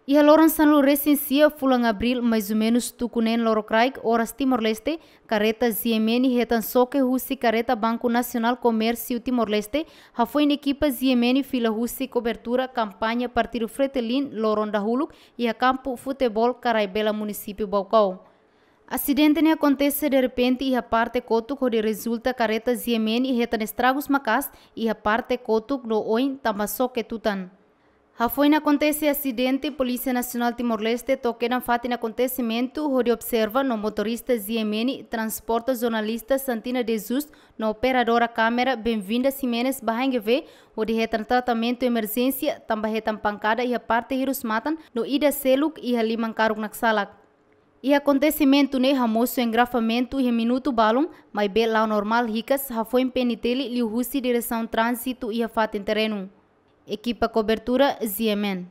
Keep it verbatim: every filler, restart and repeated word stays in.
Iha loron sanulu resin sia fulan Abríl, mais ou menus tuku neen lorokraik, oras Timor-Leste, karreta G M N hetan xoke husi karreta Banku Nasionál Komérsiu Timor-Leste, hafoin ekipa G M N fila husi kobertura kampaña Partidu Fretilin loron dahuluk iha kampu futeból Karaibela, munisípiu Baucau. Asidente ne'e akontese derrepente iha parte kotuk hodi rezulta karreta G M N hetan estragus maka'as iha parte kotuk no oin tanba xoke tutan. Hafoin akontese asidente, Polísia Nasionál Timor-Leste to'o kedan fatin akontesimentu hodi observa no motorista G M N transporta jornalista Santina de Jesus no operadora kámera Benvinda Ximenes ba H N G V hodi hetan tratamentu emerjénsia tanba hetan pankada iha parte hirus-matan no ida seluk iha liman karuk Naksalak. Iha akontesimentu ne'e hamosu engarrafamentu iha minutu balun, maibé la'o normál hikas hafoin P N T L liuhusi Diresaun Tránzitu iha fatin terrenu. Ekipa kobertura G M N.